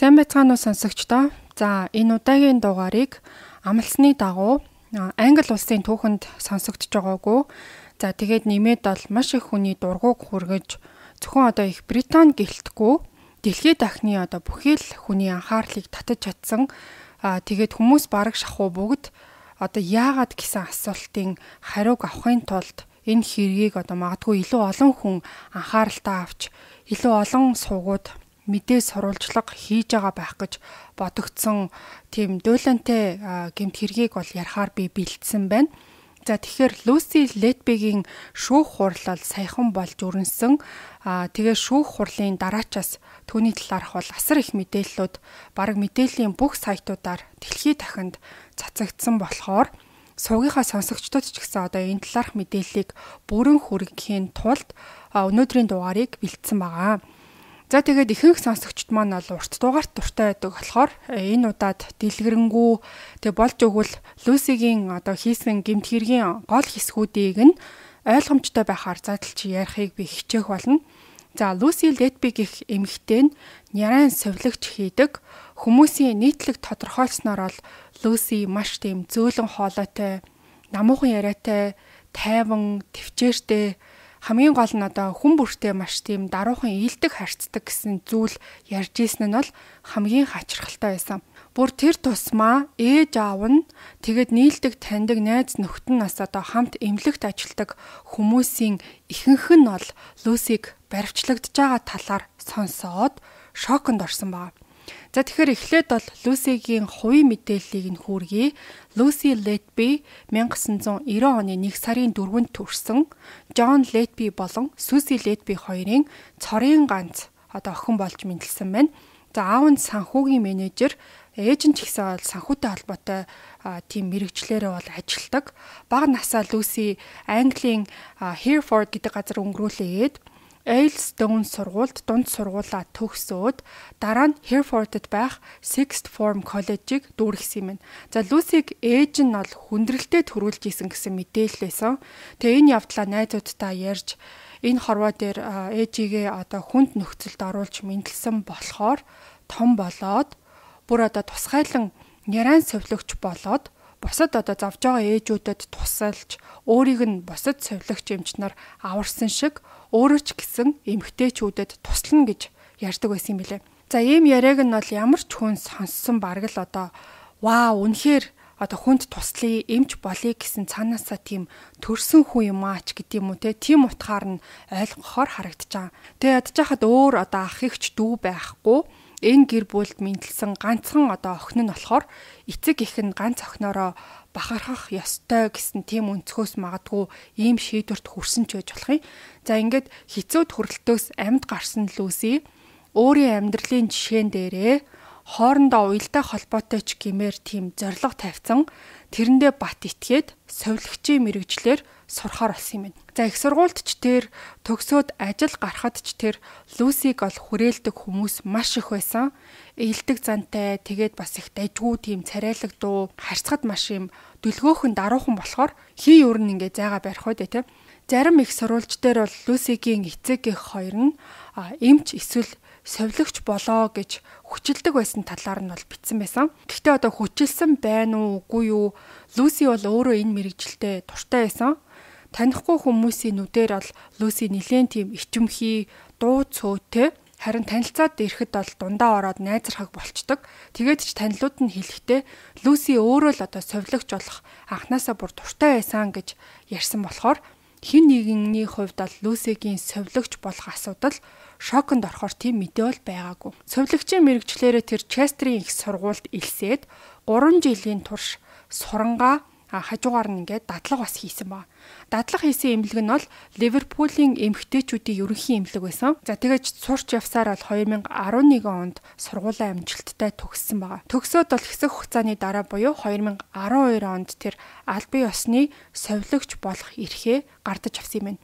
Сайн байцгаана уу сонсогчдоо. За энэ удаагийн дугаарыг амлсны дагуу Англи улсын түүхэнд сонсогдож байгаагүй. За тэгээд нэмээд бол маш их хүний дургуг хүргэж зөвхөн одоо их Британь гэлтгүй дэлхийд дахны одоо бүхий л хүний анхаарлыг татаж чадсан. Тэгээд хүмүүс бараг шахуу бүгд одоо яагаад гэсэн асуултын хариуг авахын тулд энэ хэргийг одоо магадгүй илүү олон хүн анхааралтай авч илүү олон суугууд мэдээ сурвалжлага хийж байгаа байх гэж бодогдсон тийм дуйлантай гэмт хэргийг бол ярахаар би бэлдсэн байна. За тэгэхээр Люси Летбигийн шүүх хурлал саяхан болж өрнөсөн. Тэгээ шүүх хурлын дараачаас түүний талаарх бол асар их мэдээллүүд бараг мэдээллийн бүх сайтуудаар дэлхийд дахинд цацагдсан болохоор суугийнхаа сонсогчдод ч гэсэн одоо энэ талаарх мэдээллийг бүрэн хүргэхийн тулд өнөөдрийн дугаарыг бэлдсэн байгаа. За тэгээд ихэнх сонсогчд маань бол урт дугаарт дуртай байдаг болохоор энэ удаад дэлгэрэнгүй тэг болж өгвөл Люсигийн одоо хийсэн гэмт хэргийн гол хэсгүүдийг нь ойлгомжтой байхаар задлж ярихыг би хичээх болно. За Люси Летби гэх эмэгтэй нь нярайн совилогч хийдэг. Хүмүүсийн нийтлэг тодорхойлсноор бол Люси маш тийм зөөлөн хоолойтой, намуухан яриатай, тайван, төвчээртэй, хамгийн гол нь одоо хүн бүртээ маш тийм даруухан ийдэг харьцдаг гэсэн зүйл ярьж ийсэн нь бол хамгийн хачирхалтай байсан. Бүр тэр тусмаа ээж аав нь тэгэд нийлдэг таньдаг найз нөхд нь бас одоо хамт эмнэлэгт ажилладаг хүмүүсийн ихэнх нь бол Люсиг баривчлагдж байгаа талаар сонсоод шоконд орсон баг. За тэгэхээр эхлээд бол Люсигийн хувийн мэдээллийг нь хүргэе. Люси Летби 1990 оны 1 сарын 4-нд төрсэн. Джон Летби болон Суси Летби хоёрын цорын ганц одоо охин болж мэндэлсэн байна. За аав нь санхүүгийн менежер, ээж нь ч гэсэн санхүүтэй холбоотой тийм мэрэгчлэрээ бол ажилтдаг. Бага насаа Люси Английн Hereford гэдэг газар өнгөрүүлээд Aylestone сургуульд дунд сургуулаа төгсөөд дараа нь Herefordд байх Sixth Form College-ыг дүүргэсэн юм байна. За Люсиг ээж нь бол хүндрэлтэд төрүүлж исэн гэсэн мэдээлэлсэн. Тэгээ энэ явдлаа найзуудтай ярьж энэ хорвоо дээр ээжигээ одоо хүнд нөхцөлд оруулж мэндэлсэн болохоор том болоод бүр одоо тусгайлан нярайн совилогч болоод бусад одоо зовж байгаа ээжүүдэд тусалж өөрийг нь бусад совилогч эмчнэр аварсан шиг өөрөө ч гэсэн эмгтээчүүдэд туслана гэж ярьдаг байсан юм билээ. За ийм яриаг нь бол ямар ч хүн сонссон бараг л одоо вау үнэхээр одоо хүнд туслая эмч болъё гэсэн цаанаасаа тийм төрсөн хүн юм аач гэдэг юм уу те тийм утгаар нь ойлгохоор харагдаж байгаа. Тэгээ ядж хахад өөр одоо ах ихч дүү байхгүй энэ гэр бүлд мэндэлсэн ганцхан одоо охин нь болохоор эцэг их нь ганц охиноороо бахархах ёстой гэсэн тийм өнцгөөс магадгүй ийм шийдвэрт хүрсэн ч байж болох юм. За ингээд хэцүү төрөлтөөс амьд гарсан Люси өөрийн амьдралын жишээн дээрээ хоорондоо уялдаа холбоотой ч гэмээр тийм зориг тавьсан тэрэндээ бат итгээд совилгчийн мэрэгчлэр сурахаар болсон юм байна. За их сургуульд ч тэр төгсөөд ажил гарахад ч тэр Люсиг ол хүрээлдэг хүмүүс маш их байсан. Эелдэг зантай тэгээд бас их дайггүй тийм царайлаг дуу харьцахад маш юм дүлгөөхөн даруухан болохоор хий өөр нь ингээ зайгаа барих үү те. Зарим их сурвалж дээр бол Люсигийн эцэг эх хоёр нь эмч эсвэл совилогч болоо гэж хүчилдэг байсан талаар нь бол бичсэн байсан. Гэхдээ одоо хүчилсэн байна уу үгүй юу? Люси бол өөрөө энэ мэрэгжилтэд дуртай байсан. Танихгүй хүмүүсийн нүдээр бол Люси нэлээд тийм ичимхий, дуу цөөтэй харин танилцаад ирэхэд бол дундаа ороод найзрахаг болчдөг. Тэгээд ч танилуд нь хэлэхдээ Люси өөрөө л одоо совилогч болох анханасаа бүр дуртай байсан гэж ярьсан болохоор хэн нэгний хувьд бол Люсигийн совилогч болох асуудал шоконд орохоор тийм мэдээ бол байгаагүй. Совилогчийн мэрэгчлэрээ тэр Честерийн их сургуульд илсээд 3 жилийн турш сурангаа хажуугаар нь ингээд дадлага бас хийсэн баг. Дадлага хийсэн эмнэлэг нь бол Ливерпулийн эмэгтэйчүүдийн ерөнхий эмнэлэг байсан. За тэгэж сурч явсаар бол 2011 онд сургуулийн амжилттай төгссөн байгаа. Төгсөөд бол хэсэг хугацааны дараа буюу 2012 онд тэр албан ёсны совилогч болох эрхээ гардаж авсан юм байна.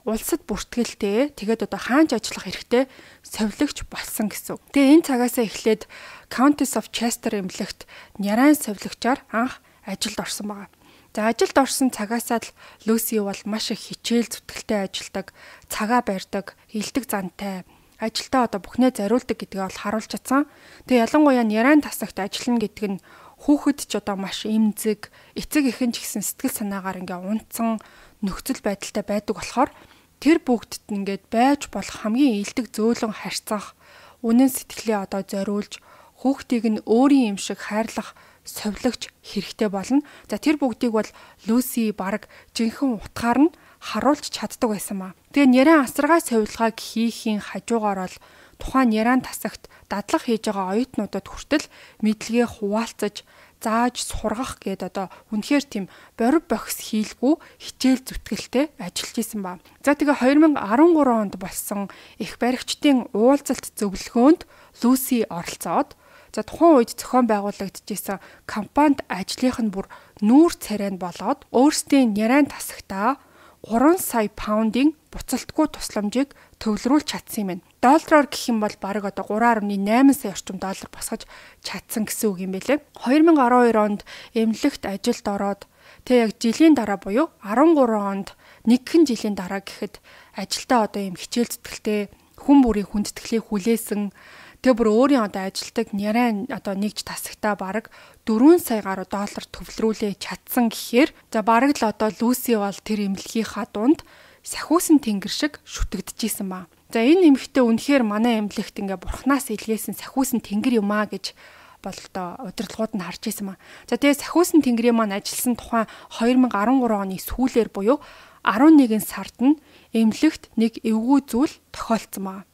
Улсад бүртгэлтэй тэгээд одоо хаанч ажиллах хэрэгтэй совилогч болсон гэсэн. Тэгээ энэ цагаасаа эхлээд Countess of Chester эмнэлэгт нярайн совилогчаар анх ажилд орсон байгаа. За ажилд орсон цагаасаа л Люси бол маш их хичээл зүтгэлтэй ажилдаг, цагаа барьдаг, илдэг зантай, ажилдаа одоо бүхнээ зориулдаг гэдгээ бол харуулж чадсан. Тэгээ ялангуяа нярайн тасагт ажиллана гэдэг нь хүүхэд ч одоо маш эмзэг, эцэг эхэн ч гэсэн сэтгэл санаагаар ингээ унтсан нөхцөл байдалтай байдаг болохоор тэр бүгдд ингээд байж болох хамгийн илдэг зөөлөн харьцах, үнэн сэтгэлээ одоо зориулж хүүхдийг нь өөрийн юм шиг хайрлах совилогч хэрэгтэй болно. За тэр бүгдийг бол Люси баг жинхэнэ утгаар нь харуулж чаддаг байсан маа. Тэгээ нярайн асаргай совилгааг хийхийн хажуугаар бол тухайн нярайн тасагт дадлаг хийж байгаа оюутнуудад хүртэл мэдлэгээ хуваалцаж зааж сургах гээд одоо үнэхээр тийм борив бохис хийлгүй хичээл зүтгэлтэй ажиллаж исэн ба. За тэгээ 2013 онд болсон их баригчдын уулзалт зөвлөгөөнд Люси оролцоод за тухайн үед зохион байгуулагдчихсан компанид ажлынх нь бүр нүүр царай нь болоод өөрсдийн нярайн тасагтаа 3 сая паундын буцалтгүй тусламжийг төвлөрүүлж чадсан юм байна. Доллараар гэх юм бол бараг одоо 3.8 сая орчим доллар босгож чадсан гэсэн үг юм байлээ. 2012 онд эмнэлэгт ажилд ороод тэг яг жилийн дараа буюу 13 онд нэгэн жилийн дараа гэхэд ажилдаа одоо юм хичээл зүтгэлтэй хүн бүрийн хүндэтгэлийг хүлээсэн. Тэгээ бүр өөрийн одоо ажилдаг нярайн одоо нэгж тасагтаа бараг 4 сая гаруй доллар төвлөрүүлээ чадсан гэхээр за бараг л одоо Люси бол тэр эмнэлгийнхаа дунд сахиусан тэнгэр шиг шүтэгдэжсэн ба. За энэ эмэгтэй үнэхээр манай эмнэлэгт ингээ бурхнаас илгээсэн сахиусан тэнгэр юм аа гэж бол одоо удирдлагууд нь харж ирсэн ба. За тэгээ сахиусан тэнгэрийн маань ажилласан тухайн 2013 оны сүүлээр буюу 11 сард нь эмнэлэгт нэг эвгүй зүйл тохиолдсон ба.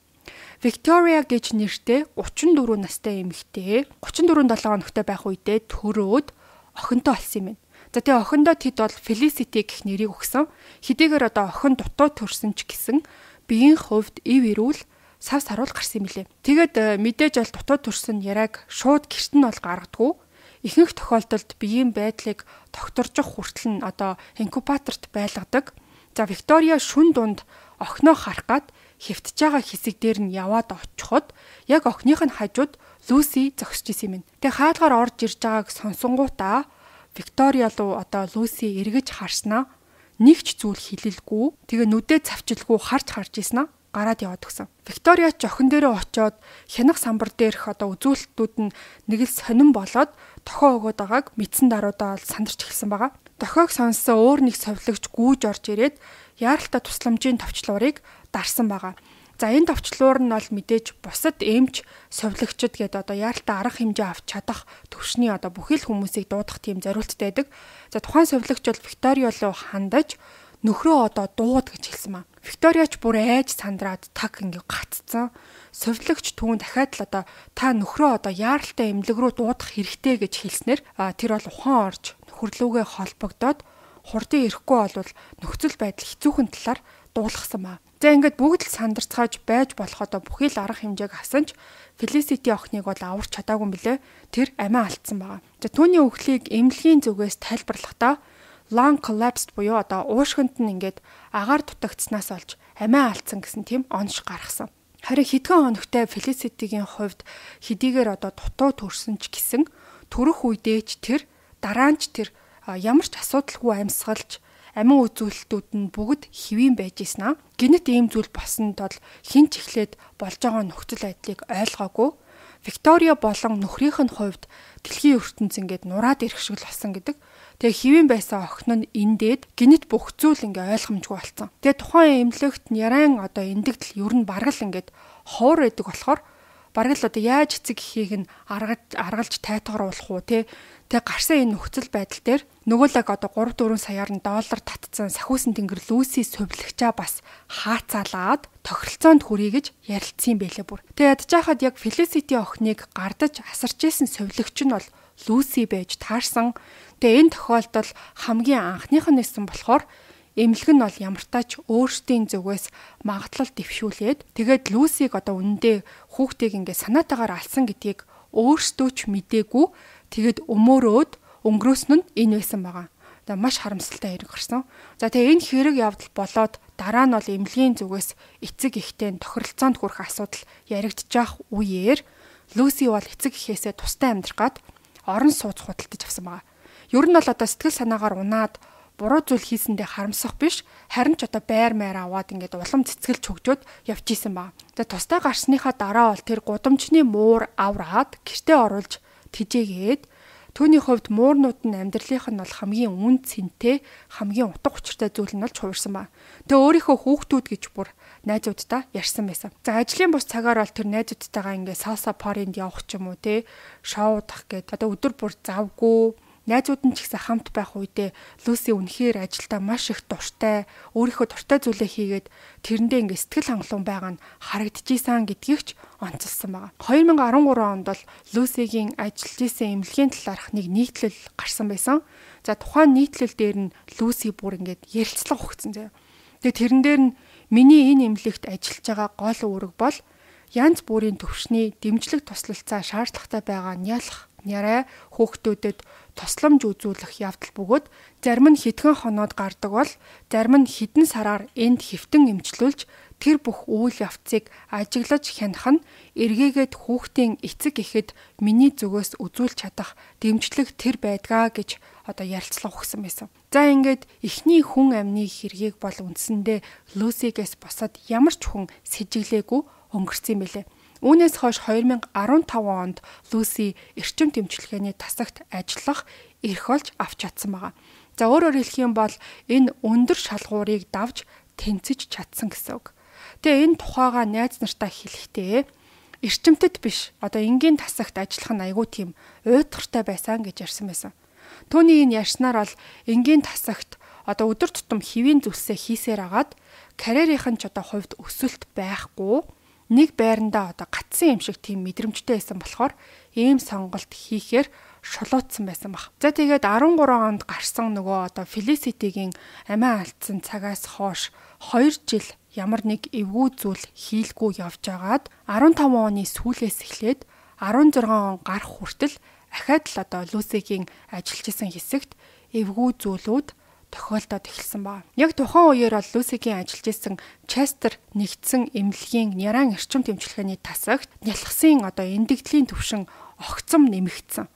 Victoria гэж нэртэй 34 настай эмэгтэй 34-7 хоногтой байх үедээ төрөөд охинтой болсон юм байна. За тэгээ охиндоо тэд бол Felicity гэх нэрийг өгсөн. Хэдийгээр одоо охин дутуу төрсөн ч гэсэн биеийн хувьд ив ирүүл сав саруул гарсан юм лээ. Тэгээд мэдээж бол дутуу төрсөн яраг шууд гэрт нь бол гаргадгүй. Ихэнх тохиолдолд биеийн байдлыг тогтворжих хүртэл нь одоо инкубаторт байлгадаг. За Victoria шүн дунд охиноо харах гад хэвтэж байгаа хэсэг дээр нь яваад очиход яг охиных нь хажууд Люси зогсож исэн юм. Тэгээ хаалгаар орж ирж байгааг сонсонгуудаа Victoria руу одоо Люси эргэж харснаа нэг ч зүйл хэлэлгүй. Тэгээ нүдээ цавчилгүй харж ийсэн гараад яваад өгсөн. Victoria ч охин дээрээ очиод хянах самбар дээрх одоо үзүүлэлтүүд нь нэг л сонирн болоод тохио өгöd байгааг мэдсэн даруйдаа сандарч эхэлсэн байгаа. Тохиог сонссон өөр нэг совилогч гүйж орж ирээд яаралтай тусламжийн товчлуурыг дарсан байгаа. За энэ товчлуур нь бол мэдээж бусад эмч совилогчд гэдэг одоо яаралтай арга хэмжээ авч чадах төвшний одоо бүхэл хүмүүсийг дуудах тийм зориулттай байдаг. За тухайн совилогч бол Victoria руу хандаж нөхрөө одоо дууд гэж хэлсэн маа. Victoria ч бүр айж сандраад таг ингээ гаццсан. Совилогч түүн дахиад л одоо та нөхрөө одоо яаралтай эмнэлэг рүү дуудах хэрэгтэй гэж хэлснээр тэр бол ухаан орж нөхөрлөөгөө холбогдоод хурдын ирэхгүй болвол нөхцөл байдал хэцүүхэн талаар дуулгасан маа. За ингээд бүгд л сандарцгааж байж болох одоо бүхий л арга хэмжээг авсан ч Felicity охиныг бол аварч чадаагүй юм билэ. Тэр амиа алдсан байгаа. За түүний өхлийг эмнэлгийн зүгээс тайлбарлахдаа lung collapsed буюу одоо уушгинд нь ингээд агаар дутагдсанаас олж амиа алдсан гэсэн тийм онш гаргасан. Харин хэдхэн хоногтой Felicity-гийн хувьд хэдийгээр одоо дутуу төрсөн ч гэсэн төрөх үедээ ч тэр дараа нь ч тэр ямар ч асуудалгүй амьсгалж амин үзүүлэлтүүд нь бүгд хэвийн байж ийсэн. Гинэт ийм зүйл босонд бол хин ч эхлээд болж байгаа нөхцөл байдлыг ойлгоогүй. Victoria болон нөхрийнх нь хувьд дэлхийн ертөнц ингээд нураад ирэх шиг л болсон гэдэг. Тэгээ хэвийн байсан охин нь эндээд гинэт бүх зүйл ингээ ойлгомжгүй болсон. Тэгээ тухайн эмнэлэгт нярайн одоо эндэгдэл ер нь бараг л ингээд ховор байдаг болохоор бараг л одоо яаж эцэг эхийг нь аргалж тайтгаруулах уу те. Тэгээ гарсан энэ нөхцөл байдал дээр нөгөө л одоо 3-4 саяар нь доллар татсан сахиусан тэнгэр Люси сувилагчаа бас хаацаалаад тохиролцоонд хүрье гэж ярилцсан юм байлээ бүр. Тэгээ ядж хахад яг Felicity охиныг гардаж асарч исэн сувилагч нь бол Люси байж таарсан. Тэгээ энэ тохиолдол хамгийн анхных нь нэсэн болохоор эмнэлэг нь бол ямартаач өөрсдийн зүгээс магадлал дэвшүүлээд тэгээд Люсиг одоо үнэндээ хүүхдийг ингээ санаатаагаар алсан гэдгийг өөрсдөө ч мдээгүй тэгээд өмөөрөөд өнгөрөөсөн нь энэ байсан байгаа. За маш харамсалтай хэрэг гарсан. За тэгээ энэ хэрэг явдал болоод дараа нь бол эмнэлгийн зүгээс эцэг эхтэй тохиролцоонд хүрэх асуудал яригдчих үеэр Люси бол эцэг эхээсээ тустай амьдрах гад орон сууц худалдаж авсан байгаа. Ер нь бол одоо сэтгэл санаагаар унаад буруу зүйл хийсэндээ харамсах биш, харин ч одоо байр маяр аваад ингээд улам цэцгэлж хөгжөөд явж исэн баг. За тустай гарсныхаа дараа бол тэр гудамжны муур авраад гэртээ оруулж тэжээгээд түүний хувьд муурнууд нь амьдралынх нь бол хамгийн үн цэнтэй, хамгийн утга учиртай зүйл нь болж хувирсан ба. Тэгээ өөрийнхөө хүүхдүүд гэж бүр найзуудтай ярьсан байсан. За ажлын бус цагаар бол тэр найзуудтайгаа ингээ салса паринд явах ч юм уу те, шоу удах гээд одоо өдөр бүр завгүй найзууд нь ч гэсэн хамт байх үедээ Люси үнэхээр ажилдаа маш их дуртай, өөрийнхөө дуртай зүйлээ хийгээд тэрэндээ ингээ сэтгэл хангалуун байгаа нь харагдчихсан гэдгийг ч онцлсан байна. 2013 онд бол Люсигийн ажиллаж исэн эмнэлгийн талаарх нэг нийтлэл гарсан байсан. За тухайн нийтлэл дээр нь Люси бүр ингээд ярилцлага өгсөн заяа. Тэгээ тэрэн дээр нь миний энэ эмнэлэгт ажиллаж байгаа гол үүрэг бол янз бүрийн төвшний дэмжлэг туслалцаа шаардлагатай байгаа нялх нярай хүүхдүүдэд тусламж үзүүлэх явдал бөгөөд зарим нь хэдхэн хоноод гардаг бол зарим нь хэдэн сараар энд хэвтэн эмчлүүлж тэр бүх үйл явцыг ажиглаж хянах нь эргээгээд хүүхдийн эцэг эхэд миний зүгөөс үзүүлж чадах дэмжлэг тэр байдгаа гэж одоо ярилцлага өгсөн байсан. За ингээд эхний хүн амны хэргийг бол үндсэндээ Люсигээс босоод ямар ч хүн сэжиглээгүй өнгөрсөн байлээ. Үүнээс хойш 2015 онд Люси эрчим тэмчилгээний тасагт ажиллах эрх олж авч чадсан байгаа. За өөрөөр хэлэх юм бол энэ өндөр шалгуурыг давж тэнцэж чадсан гэсэн үг. Тэгээ энэ тухайга найз нартаа хэлэхдээ эрчимтэд биш одоо энгийн тасагт ажиллах нь айгүй тийм уйтгартай байсан гэж ярьсан байсан. Түүний энэ ярьснаар бол энгийн тасагт одоо өдөр тутам хэвийн зүйлсээ хийсээр агаад карьерийнх нь ч одоо хувьд өсөлт байхгүй нэг байрандаа одоо гатсан юм шиг тийм мэдрэмжтэй байсан болохоор ийм сонголт хийхээр шулуутсан байсан баг. За тэгээд 13 онд гарсан нөгөө одоо Felicity-гийн амиа алдсан цагаас хойш 2 жил ямар нэг эвгүй зүйл хийлгүй явж агаад 15 оны сүүлээс эхлээд 16 он гарах хүртэл ахаад л одоо Люсигийн ажиллаж исэн хэсэгт эвгүй зүйлүүд тохиолдоод эхэлсэн байна. Яг тухайн үеэр бол Люсигийн ажиллаж исэн Честер нэгдсэн эмнэлгийн няран эрчим тэмчилгээний тасагт нялхсан одоо эндэгдлийн түвшин огцом нэмэгдсэн.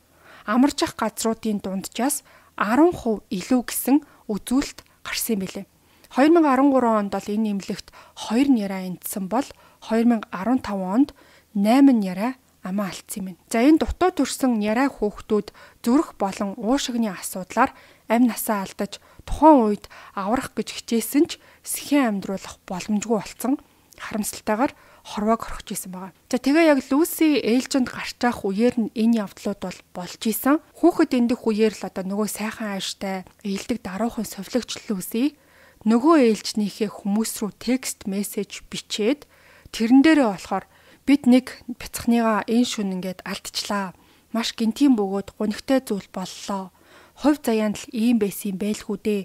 Амарч ах газруудын дунджаас 10% илүү гэсэн үзүүлэлт гарсан юм билээ. 2013 онд бол энэ эмнэлэгт 2 няраа эндсэн бол 2015 онд 8 няраа амиа алдсан юм. За энэ дутуу төрсэн няраа хүүхдүүд зүрх болон уушигны асуудлаар амь насаа алдаж тухайн үед аврах гэж хичээсэн ч сэхэн амьдруулах боломжгүй болсон харамсалтайгаар хорвоог орхиж исэн байгаа. За тэгээ яг Люси ээлжинд гарч явах үеэр нь энэ явдлууд бол болж исэн. Хүүхэд эндэх үеэр л одоо нөгөө сайхан ааштай ээлдэг даруухан совлогч Люси нөгөө ээлжнийхээ хүмүүс рүү текст мессеж бичээд тэрэн дээрээ болохоор бид нэг бяцхныгаа энэ шүн ингээд алдчихлаа. Маш гинтийн бөгөөд гунигтай зүйл боллоо. Хувь заяанд л ийм байсан байлгүй дээ.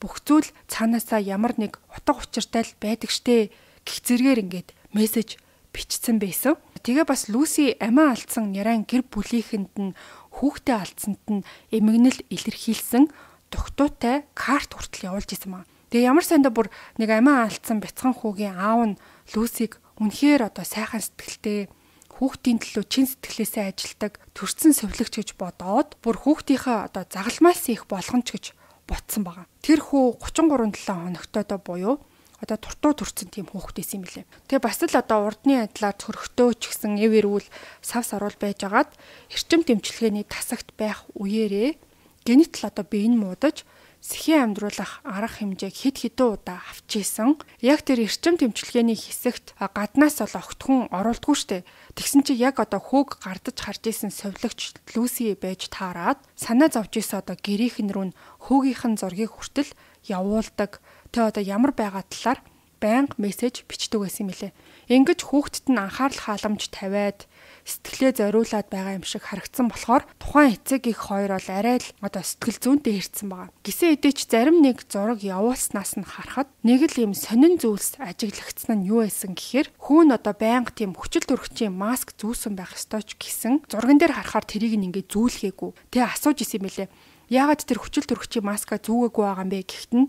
Бүх зүйл цаанаасаа ямар нэг утга учиртай л байдаг штэ гэх зэргээр ингээд мессеж бичсэн байсан. Тэгээ бас Люси амиа алдсан няран гэр бүлийнхэнд нь хүүхдээ алдсанд нь эмгэнэл илэрхийлсэн тогтуутай карт хүртэл явуулж исэн маа. Тэгээ ямар сандаа бүр нэг амиа алдсан бяцхан хүүгийн аав нь Люсиг үнэхээр одоо сайхан сэтгэлтэй хүүхдийн төлөө чин сэтгэлээсээ ажилдаг төрсэн совлогч гэж бодоод бүр хүүхдийнхээ одоо загалмаас их болгоомж гэж ботсон байгаа. Тэр хүү 33-7 хоногтойдоо буюу одоо туртуу төрсэн тийм хүүхдээс юм билээ. Тэгээ бас л одоо урдны адилаар цөрхтөө ч гэсэн эв эрүүл сав саруул байжгаад эрчим тэмчилгээний тасагт байх үеэрээ генетл одоо бие нь муудаж сэхэн амьдруулах арга хэмжээг хэд хэдэн удаа авч ийсэн. Яг тэр эрчим тэмчилгээний хэсэгт гаднаас бол огтхон оруулдгүй штэ. Тэгсэн чи яг одоо хүүг гардаж харж исэн совлогч Люси байж таарад санаа зовж исэн одоо гэрийнхэн рүү хүүгийнхэн зургийг хүртэл явуулдаг. Тэ одоо ямар байгаа талаар байнга мессеж бичдэг байсан юм лээ. Ингэж хүүхдэд нь анхаарал халамж тавиад сэтгэлээ зориулаад байгаа юм шиг харагдсан болохоор тухайн эцэг их хоёр бол арай л одоо сэтгэл зүйнтэй хэрцсэн байгаа. Гисэн хэдий ч зарим нэг зураг явуулснаас нь харахад нэг л юм сонин зүйлс ажиглагдсан нь юу байсан гэхээр хүүн одоо байнга тийм хүчил төрөгчийн маск зүүсэн байх ёстой ч гэсэн зурган дээр харахаар тэрийг ингээ зүүлгээгүй. Тэгээ асууж исэн юм лээ. Яагаад тэр хүчил төрөгчийн маска зүүгээгүй байгаа юм бэ гэхэд нь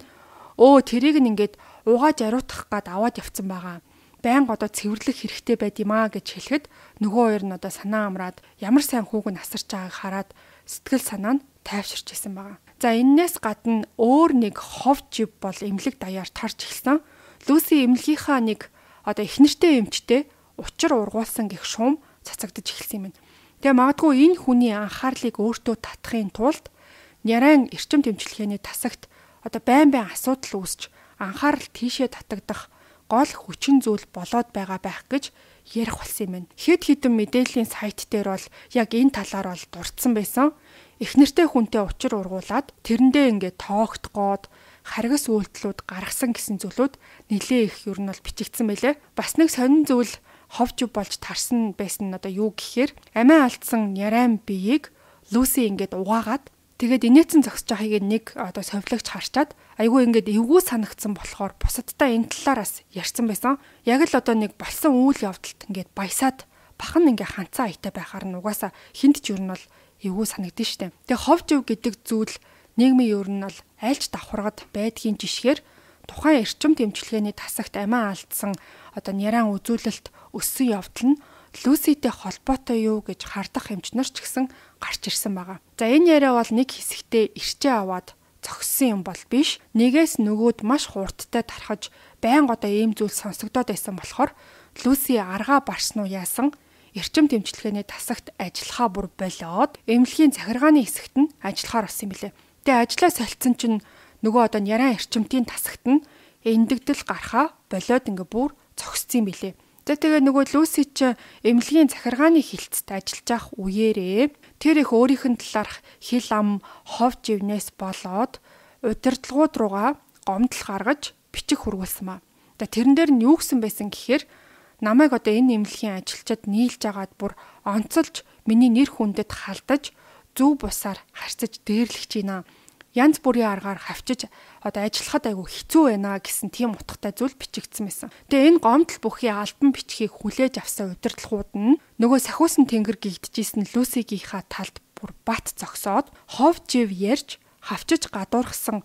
тэрийг нь ингээд угааж ариутгах гад аваад явцсан байгаа. Байнга одоо цэвэрлэх хэрэгтэй байд юм аа гэж хэлэхэд нөгөө хоёр нь одоо санаа амраад ямар сайн хүүг нь асарч байгааг хараад сэтгэл санаа нь тайвширч исэн байгаа. За энээс гадна өөр нэг хов жив бол эмнэлэг даяар тарж эхэлсэн. Люси эмнэлгийнхаа нэг их нэртэй эмчтэй учир ургуулсан гэх шуум цацагдж эхэлсэн юм байна. Тэгээ магадгүй энэ хүний анхаарлыг өөртөө татахын тулд Нярайн эрчим тэмчилгээний тасагт байн асуудал үүсч анхаарал тийшээ татагдах гол хүчин зүйл болоод байгаа байх гэж ярих болсон юм байна. Хэд хэдэн мэдээллийн сайт дээр бол яг энэ талаар бол дурдсан байсан. Эхнэртэй хүнтэй учир ургуулад тэрэндээ ингээд тоогтгоод харгас үйлдэлүүд гаргасан гэсэн зүйлүүд нэлээ их ер нь бол бичигдсэн байлээ. Бас нэг сонин зүйл ховж болж тарсан байсан нь юу гэхээр амиа алдсан Нярайн биеийг Люси ингээд угаагаад тэгээд инээдсэн зогсож байгааг нэг совилогч харчаад айгүй ингээд эвгүй санагдсан болохоор бусадтай энэ талаараас ярьсан байсан. Яг л нэг болсон үйл явдалд ингээд баясаад бахан ингээд ханцаа аятай байхаар нь угаасаа хинт ч ер нь бол эвгүй санагдсан шүү дээ. Тэгээ ховжив гэдэг зүйл нийгмийн ер нь бол айлч давхаргад байдгийн жишгээр тухайн эрчим тэмчилгээний тасагт амиа алдсан Нярайн үзүүлэлт өссөн явдал нь Люситэй холбоотой юу гэж хардах эмчнэр ч гэсэн гарч ирсэн байгаа. За энэ яриа бол нэг хэсэгтээ ирчээ аваад зогссон юм бол биш. Нэгээс нөгөөд маш хурдтай тархаж байнга ийм зүйл сонсогдоод байсан болохоор Люси аргаа барсан уу яасан эрчим тэмчилгээний тасагт ажиллахаа бүр болоод эмнэлгийн захиргааны хэсэгт нь ажиллахаар болсон юм билээ. Тэгээ ажлаа солилцсон чинь нөгөө Нярайн эрчимтийн тасагт нь эндэгдэл гарахаа болоод ингээ бүр зогссон юм билээ. Тэгээ нөгөө Люси ч эмнэлгийн захиргааны хилцэд ажиллаж байх үеэрээ тэр их өөрийнх нь талаарх хил ам хов живнээс болоод удирдлагууд руугаа гомдол гаргаж бичих хургуулсан маа. Тэрэн дээр нь юу гэсэн байсан гэхээр намайг энэ эмнэлгийн ажилчид нийлж агаад бүр онцолж миний нэр хүндэд халдаж зөв бусаар харьцаж дээрлэж байна. Янз бүрийн аргаар хавчиж ажиллахад айгүй хэцүү байна гэсэн тийм утгатай зүйл бичигдсэн байсан. Тэгээ энэ гомдол бүхий альбан бичгийг хүлээж авсан удирдлагууд нь нөгөө сахиусан тэнгэр гэгдэжсэн Люсигийнхаа талд бүр бат зогсоод хов жив ярьж хавчиж гадуурхсан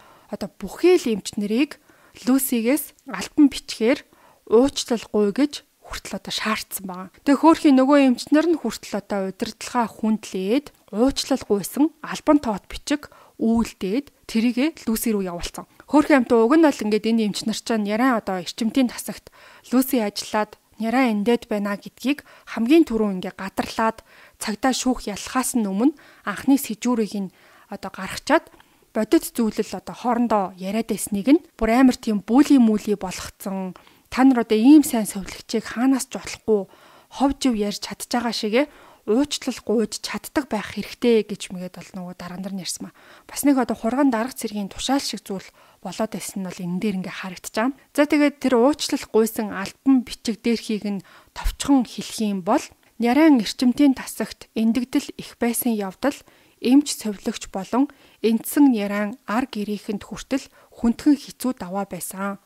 бүхий л эмч нарыг Люсигээс альбан бичгээр уучлалгүй гэж хүртэл шаардсан байгаа. Тэгээ хөөрхийн нөгөө эмчнэр нь хүртэл удирдлагаа хүндлээд уучлалгүйсэн альбан тоот бичиг үйлдээд тэрийгэ Люси руу явуулсан. Хөөрхийн амт уг нь бол ингээд энэ эмч нар чинь Нярайн эрчимтийн тасагт Люси ажиллаад Нярайн эндээд байна гэдгийг хамгийн түрүү ингээд гадарлаад цагдаа шүүх ялхаас нь өмнө анхны сэжүүрийг нь гаргачаад бодит зүйлэл хоорондоо яриад байсныг нь бүр амар тийм бүли мүли болгоцсон. Та нар ийм сайн совлогчийг хаанаас ч болохгүй ховжив ярьж чадж байгаа шигэ уучлал гуйж чаддаг байх хэрэгтэй гэж мэгээд бол нөгөө дараа нар ярьсан маа. Бас нэг хурган дарга цэргийн тушаал шиг зүйл болоод байсан нь бол энэ дээр ингээ харагдчихаа. За тэгээд тэр уучлал гуйсан альбан бичиг дээрхийг нь товчхон хэлэх юм бол Нярайн эрчимтийн тасагт эндэгдэл их байсан явдал эмч совлогч болон эндсэн Нярайн ар гэрээхэнд хүртэл хүндхэн хэцүү даваа байсан.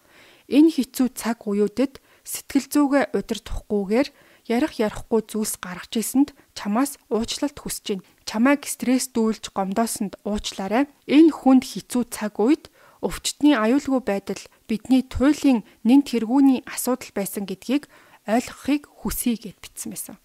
Энэ хэцүү цаг үеүүдэд сэтгэл зүгээ удирдахгүйгээр ярихгүй зүйлс гаргаж ийсэнд чамаас уучлалт хүсэж байна. Чамайг стресстүүлж гомдоосонд уучлаарай. Энэ хүнд хэцүү цаг үед өвчтний аюулгүй байдал бидний туйлын нэн тэргүүний асуудал байсан гэдгийг ойлгохыг хүсье гэд бичсэн байсан.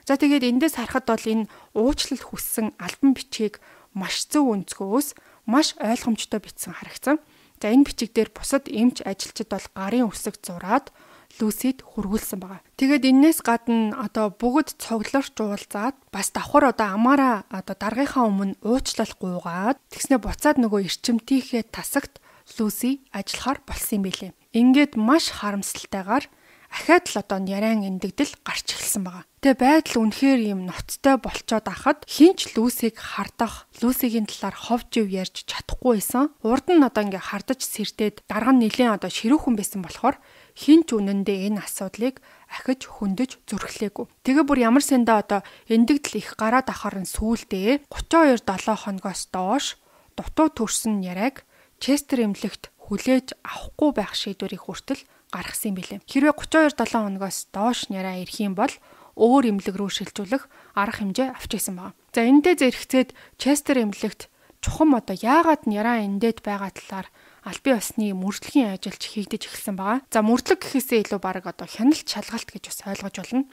За тэгээд эндээс харахад бол энэ уучлал хүссэн альбан бичгийг маш зөв өнцгөөс маш ойлгомжтой бичсэн харагдсан. За энэ бичиг дээр бусад эмч ажилчид бол гарын үсэг зураад Люсид хургуулсан байгаа. Тэгээд энээс гадна бүгд цоглорч уулзаад бас давхар амаараа даргийнхаа өмнө уучлал гуйгаад тэгснэ буцаад нөгөө эрчимтийнхээ тасагт Люси ажиллахаар болсон юм билээ. Ингээд маш харамсалтайгаар ахаад л Нярайн эндэгдэл гарч эхэлсэн байгаа. Тэгээ байдал үнэхээр юм ноцтой болцоод ахад хинч Люсиг хардах, Люсигийн талаар ховжив ярьж чадахгүй байсан. Урд нь ингээ хардаж сэрдээд дарга нь нэлээд ширүүхэн байсан болохоор хинч үнэндээ энэ асуудлыг ахиж хөндөж зүрхлээгүй. Тэгээ бүр ямар сандаа эндэгдэл их гараад ахаар нь сүүлдээ 32-7 хоногоос доош дутуу төрсөн Нярайг Честер эмнэлэгт хүлээж авахгүй байх шийдвэрийг хүртэл гаргасан юм билээ. Хэрвээ 32-7 хоногоос доош Нярай ирэх юм бол өөр эмнэлэг рүү шилжүүлэх арга хэмжээ авч исэн байна. За эндээ зэрэгцээд Честер эмнэлэгт чухам яагаад Нярай эндээд байгаа талаар албан ёсны мөрдлөгийн ажилч хийгдэж эхэлсэн байгаа. За мөрдлөг гэхээсээ илүү баг хяналт шалгалт гэж бас ойлгож болно.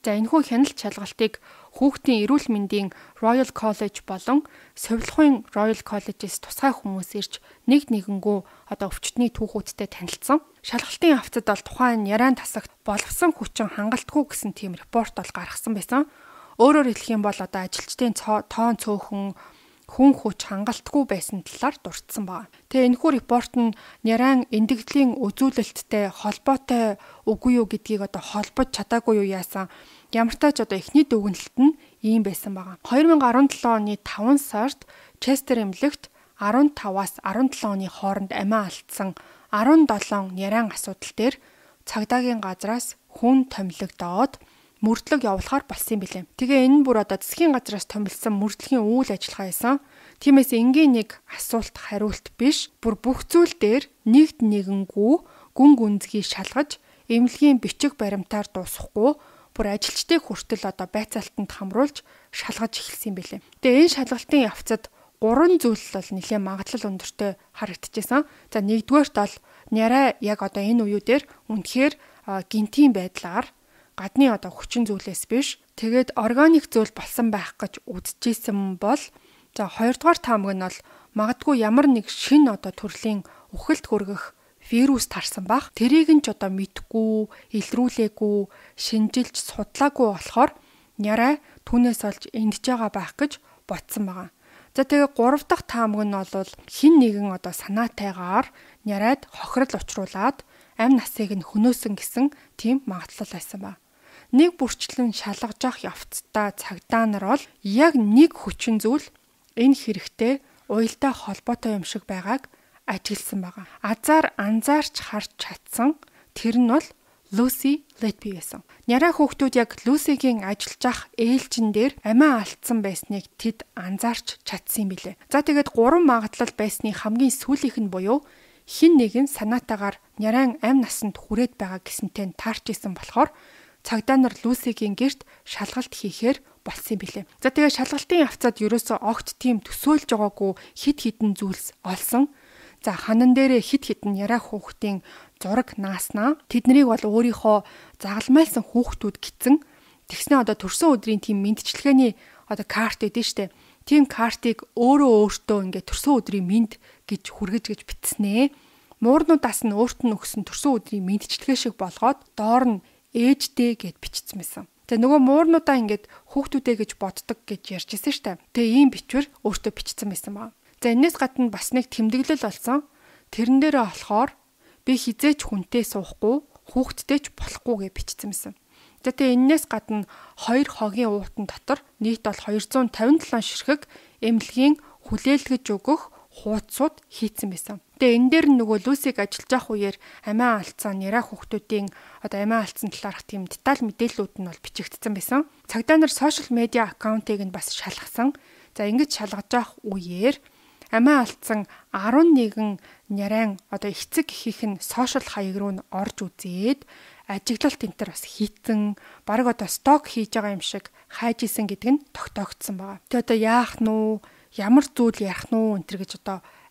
За энэхүү хяналт шалгалтыг хүүхдийн эрүүл мэндийн Royal College болон Совилгын Royal College-с тусгай хүмүүс ирж нэгэнгүү өвчтний түүхүүдтэй танилцсан. Шалгалтын авцад бол тухайн Нярайн тасагт боловсон хүчин хангалтгүй гэсэн тийм репорт бол гаргасан байсан. Өөрөөр хэлэх юм бол ажилчдын тоон цөөхөн хүн хүч хангалтгүй байсан талаар дурдсан байна. Тэгээ энэхүү репорт нь Нярайн эндэгдлийн үзүүлэлттэй холбоотой үгүй юу гэдгийг холбож чадаагүй юу яасан. Ямар ч тач эхний дүгнэлт нь ийм байсан байгаа. 2017 оны 5 сард Честер эмнэлэгт 15-аас 17 оны хооронд амиа алдсан 17 Нярайн асуудал дээр цагдаагийн газраас хүн томилогдоод мөрдлөг явуулахаар болсон юм билээ. Тэгээ энэ бүр засгийн газраас томилсон мөрдлөгийн үйл ажиллагаа байсан. Тиймээс энгийн нэг асуулт хариулт биш, бүр бүх зүйл дээр нэгэнгүү гүн гүнзгий шалгаж эмнэлгийн бичиг баримтаар дуусахгүй бүр ажилчдыг хүртэл байцаалтанд хамруулж шалгаж эхэлсэн юм билээ. Тэгээ энэ шалгалтын явцад 3 зүйл бол нэлээд магадлал өндөртэй харагдчихсан. За нэгдүгээрт бол Нярай яг энэ үеү дээр үнэхээр гинтийн байдлаар гадны хүчин зүйлээс биш тэгээд органик зүйл болсон байх гэж үзэжсэн бол за хоёрдугаар таамаг нь бол магадгүй ямар нэг шинэ төрлийн үхэлд хүргэх вирус тарсан бах тэрийг нь ч мэдгүй, илрүүлээгүй, шинжилж судлаагүй болохоор Нярай түүнээс олж эндж байгаа байх гэж бодсон байгаа. За тэгээ 3 дахь таамаг нь бол хин нэгэн санаатайгаар Нярайд хохирол учруулад амь насыг нь хөнөөсөн гэсэн тийм магадлал байсан ба. Нэг бүрчлэн шалгаж авах явцдаа цагдаа нар бол яг нэг хүчин зүйл энэ хэрэгтэй уялдаа холбоотой юм шиг байгааг ажигласан байгаа. Азар анзаарч харж чадсан тэр нь бол Lucy Letby байсан. Нярай хүүхдүүд яг Lucy-гийн ажиллаж ах ээлжин дээр амиа алдсан байсныг тэд анзаарч чадсан юм билээ. За тэгээд 3 магадлал байсны хамгийн сүүлийнх нь буюу хин нэгэн санаатаагаар Нярайн амь насанд хүрээд байгаа гэсэнтэй таарч исэн болохоор цагдаа нар Lucy-гийн гэрт шалгалт хийхээр болсон юм билээ. За тэгээ шалгалтын явцад ерөөсөө огт тийм төсөөлж байгаагүй хид хідэн зүйлс олсон. За ханан дээрээ хид хідэн Нярай хүүхдийн зураг нааснаа тэднийг бол өөрийнхөө загалмайлсан хүүхдүүд гисэн тэгснэ төрсөн өдрийн тийм мэдчилгээний карт өгдөө штэ. Тийм картыг өөртөө төрсөн өдрийн мэд гэж хүргэж бичснээ. Муурнуудаас нь өөрт нь өгсөн төрсөн өдрийн мэдчилгээ шиг болгоод доор нь ээждээ гэд бичсэн байсан. Тэгээ нөгөө муурнуудаа хүүхдүүдээ гэж боддог гэж ярьжсэн штэ. Тэгээ ийм бичвэр өөртөө бичсэн байсан баа. За энэс гадна бас нэг тэмдэглэл болсон. Тэрэн дээрээ болохоор би хизээч хүнтэй суухгүй, хүүхдтэй ч болохгүй гэж бичсэн байсан. Тэгээ энэс гадна 2 хогийн уутан дотор нийт бол 257 ширхэг эмнэлгийн хүлээлгэж өгөх хуудсууд хийцэн байсан. Тэгээ энэ дээр нөгөө Люсиг ажиллаж явах үеэр амиа алдсан Нярай хүүхдүүдийн амиа алдсан талаарх тийм деталь мэдээллүүд нь бол бичигдсэн байсан. Цагдаа нар сошиал медиа аккаунтыг нь бас шалгасан. За ингэж шалгаж явах үеэр амиа алдсан 11 Нярайн эцэг эхийнх нь сошиал хаяг руу нь орж үзээд ажиглалт энтер бас хийцэн баг сток хийж байгаа юм шиг хайж исэн гэдэг нь тогтоогдсон байгаа. Тэгээ яах нь уу, ямар зүйл ярих нь уу энтер гэж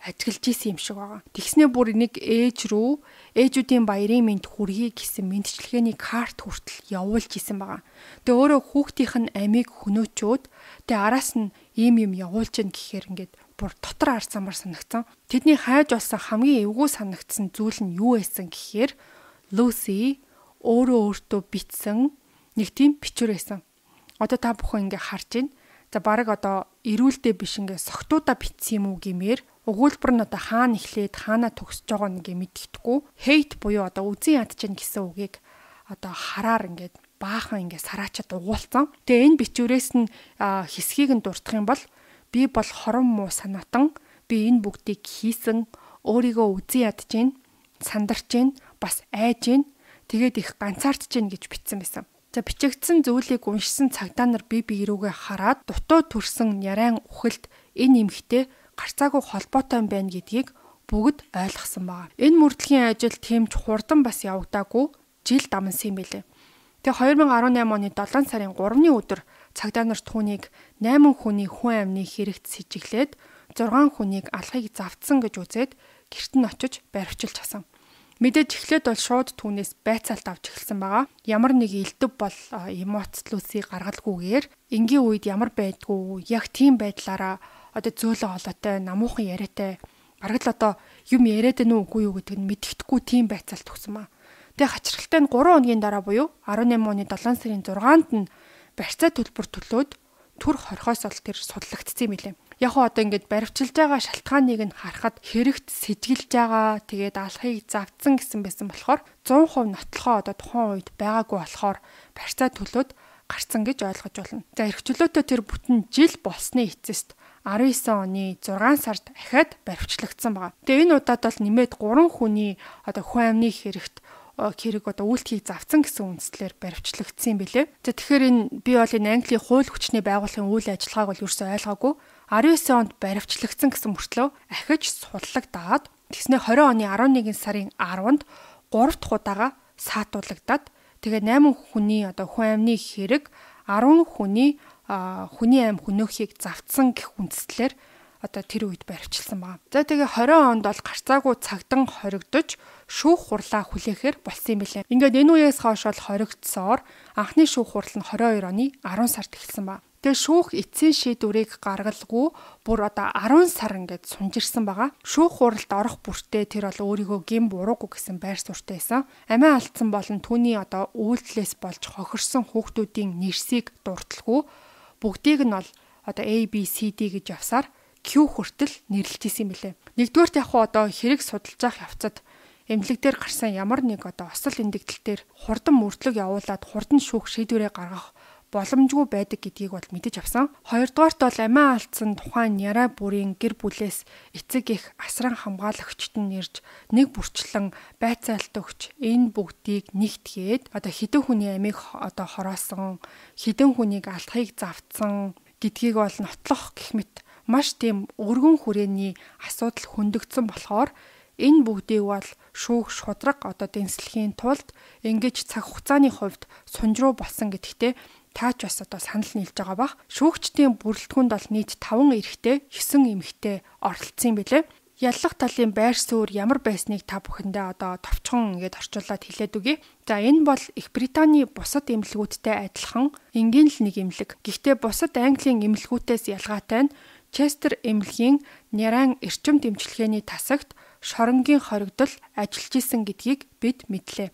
ажиглаж исэн юм шиг байгаа. Тэгснээ бүр нэг ээж рүү ээжүүдийн баярын мэнд хүргэе гэсэн мэндчилгээний карт хүртэл явуулж исэн байгаа. Тэгээ өөрөө хүүхдийнх нь амийг хөнөөчөөд тэгээ араас нь ийм юм явуулж ийн гэхээр бүр дотор арцсамар санагцсан. Тэдний хайж болсон хамгийн эвгүй санагдсан зүйл нь юу байсан гэхээр Lucy өөртөө бичсэн нэг тийм бичвэр байсан. Та бүхэн харж байна. За баг эрүүлдэ биш согтуудаа бичсэн юм уу гэмээр өгүүлбэр нь хаана эхлээд хаана төгсөж байгаа нэг мэддэхгүй hate буюу үзэн ядчихна гэсэн үгийг хараар баахан сараачаад угуулсан. Тэгээ энэ бичвэрээс нь хэсгийг нь дурдах юм бол би бол хорон муу санаатан би энэ бүгдийг хийсэн өөрийгөө үзэн ядчихна, сандарч бас айж тэгээд их ганцаардж гэж бичсэн байсан. За бичигдсэн зүйлийг уншсан цагдаа нар бие рүүгээ хараад дутуу төрсэн Нярайн үхэлд энэ эмэгтэй гарцаагүй холбоотой юм байна гэдгийг бүгд ойлгосон байгаа. Энэ мөрдлөгийн ажил тэмч хурдан бас явагдаагүй жил дамнсан юм билээ. Тэгээ 2018 оны 7 сарын 3-ны өдөр цагдаа нар түүнийг 8 хүний хүн амны хэрэгт сэжиглээд 6 хүнийг алхахыг завдсан гэж үзээд гэрт нь очиж баривчилж хасан. Мэдээж эхлээд бол шууд түүнээс байцаалт авч эхэлсэн байгаа. Ямар нэг элдв бол эмоцлүүсийг гаргалгүйгээр энгийн үед ямар байдгүй яг тийм байдлаараа одоо зөөлөн холоотой намуухан яриатай бараг л одоо юм яриад байна уу үгүй юу гэдэг нь мэддэхгүй тийм байцаалт өгсөн маа. Тэгээ хачирхалтай нь 3 хоногийн дараа буюу 18 оны 7 сарын 6-нд нь барьцаа төлбөр төлөөд түр хорхоос ол тэр судлагдсан юм билээ. Яг хоо одоо ингээд баривчилж байгаа шалтгааныг нь харахад хэрэгт сэжгэлж байгаа тэгээд алхахыг завдсан гэсэн байсан болохоор 100% нотлохоо одоо тухайн үед байгаагүй болохоор барьцаа төлөөд гарцсан гэж ойлгож байна. За эрхчлөөтэй тэр бүтэн жил болсны эцэст 19 оны 6 сард дахиад баривчлагдсан байна. Тэгээ энэ удаад бол нэмээд 3 хүний одоо хүн амны хэрэгт хэрэг одоо үйлдэлийг завцсан гэсэн үндслээр баривчлагдсан юм билээ. За тэгэхээр энэ би бол энэ Английн хууль хүчний байгууллагын үйл ажиллагааг бол ерөөсөй ойлгоогүй. 19 онд баривчлагдсан гэсэн мөртлөө ахиж суллагдаад тэгснэ 20 оны 11 сарын 10-нд 3 дахь удаага саатуулагдаад тэгээ 8 хүний одоо хүн амны хэрэг 10 хүний аим хөнөөхийг завцсан гэх үндслээр одоо тэр үед баривчилсан байна. За тэгээ 20 онд бол гарцаагүй цагдан хоригдож шүүх хурлаа хүлээхээр болсон юм билээ. Ингээд энэ үеэс хойш бол хоригдсоор анхны шүүх хурал нь 22 оны 10 сард эхэлсэн байна. Тэгээ шүүх эцсийн шийдвэрийг гаргалгүй бүр одоо 10 сар ингээд сунжирсан байгаа. Шүүх хуралд орох бүртээ тэр бол өөрийгөө гин буруугүй гэсэн байр суурьтай байсан. Амиа алдсан болон түүний одоо үйлдэлээс болж хохирсон хүүхдүүдийн нэрсийг дурталгүй бүгдийг нь бол одоо A B C D гэж явсаар Q хүртэл нэрлэж исэн юм билээ. Нэгдүгээрт яг одоо хэрэг судалж явах явцад эмнэлэг дээр гарсан ямар нэг одоо осол эндэгдэлтээр хурдан мөрдлөг явуулаад хурдан шүүх шийдвэрээ гаргах боломжгүй байдаг гэдгийг бол мэдэж авсан. Хоёрдугаарт бол амиа алдсан тухайн Няра бүрийн гэр бүлээс эцэг их асран хамгаалагчд нь ирж нэг бүрчлэн байцаалт өгч энэ бүгдийг нэгтгээд одоо хэдэн хүний амийг одоо хороосон, хэдэн хүнийг алдахыг завдсан гэдгийг бол нотлох гэх мэт маш тийм өргөн хүрээний асуудал хөндөгдсөн болохоор энэ бүгдийг бол шүүх шудраг одоо дэнслэхийн тулд ингэж цаг хугацааны хувьд сунжруу болсон гэдэгтээ таач бас одоо санал нийлж байгаа бах. Шүүгчдийн бүрэлдэхүүнд бол нийт 5 эрэгтэй 9 эмэгтэй оролцсон юм билээ. Яллах талын байр суурь ямар байсныг та бүхэндээ одоо товчхон ингээд орчуулад хэлээд үгэй. За энэ бол Их Британий бусад эмнэлгүүдтэй адилхан энгийн л нэг эмнэлэг. Гэхдээ бусад Английн эмнэлгүүдээс ялгаатай нь Честер эмнэлгийн Няран эрчим дэмжлэгээний тасагт шоронгийн хоригдол ажиллаж исэн гэдгийг бид мэдлээ.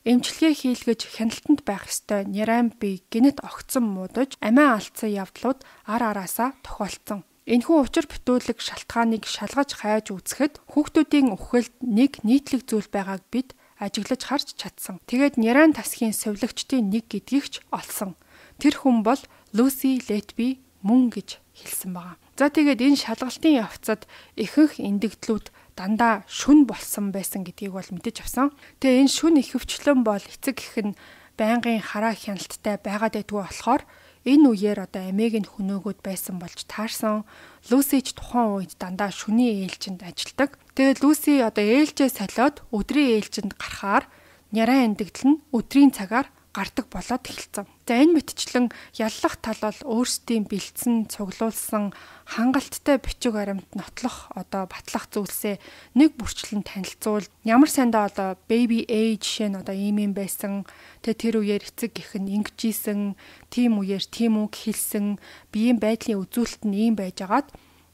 Эмчилгээ хийлгэж хяналтанд байх ёстой Няран бие гинэт огцон муудаж амиа алдсан явдлууд ар араасаа тохиолдсон. Энэхүү учир бүтүүлэг шалтгааныг шалгаж хайж үзэхэд хүүхдүүдийн үхэлд нэг нийтлэг зүйл байгааг бид ажиглаж харж чадсан. Тэгээд Няран тасгийн сувилагчдын нэг гэдгийг ч олсон. Тэр хүн бол Lucy Letby мөн гэж хэлсэн байна. За тэгээд энэ шалгалтын явцад ихэнх эндэгдлүүд дандаа шүн болсон байсан гэдгийг бол мэдэж авсан. Тэгээ энэ шүн ихэвчлэн бол эцэг их нь байнгын хараа хяналттай байгаад байдгүй болохоор энэ үеэр одоо амийг нь хөнөөгөөд байсан болж таарсан. Люси ч тухайн үед дандаа шүний ээлжинд ажилладаг. Тэгээд Люси одоо ээлжээ солиод өдрийн ээлжинд гарахаар Няран эндэгдэл нь өдрийн цагаар гардаг болоод эхэлсэн. За энэ мэтчлэн яллах тал бол өөрсдийн бэлдсэн, цуглуулсан хангалттай бичиг баримт нотлох одоо батлах зүйлсээ нэг бүрчлэн танилцуул. Ямар сандаа одоо baby age жишээ нь одоо ийм юм байсан. Тэр үеэр эцэг гэх нь ингэжсэн, тийм үеэр тийм үг хэлсэн, биеийн байдлын үзүүлэлт нь ийм байжгаад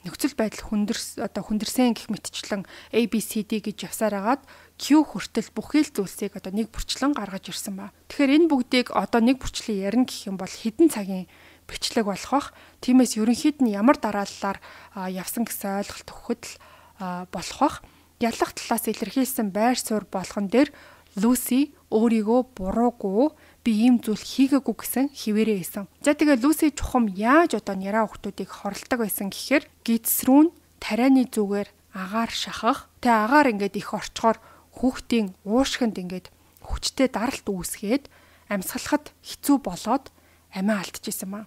нөхцөл байдал хүндэрсэн гэх мэтчлэн ABCD гэж явсаар агаад Q хүртэл бүхэл зүйлсийг одоо нэг бүрчлэн гаргаж ирсэн ба. Тэгэхээр энэ бүгдийг одоо нэг бүрчлэн ярина гэх юм бол хэдэн цагийн бичлэг болох бах. Тиймээс ерөнхийд нь ямар дарааллаар явсан гэсэн ойлголт өгөхөд болох бах. Яллах талаас илэрхийлсэн байр суурь болгон дээр Люси өөрийгөө буруугүй би ийм зүйл хийгээгүй гэсэн хിവэрээ хийсэн. За тэгээ Люси чухам яаж одоо Няран хүүхдүүдийг хорлдог байсан гэхээр гидсрүүн тарианы зүгээр агаар шахах. Тэгээ агаар ингээд их орчхоор хүүхдийн уушгинд ингээд хүчтэй даралт үүсгээд амьсгалахад хэцүү болоод амиа алдчихсан маа.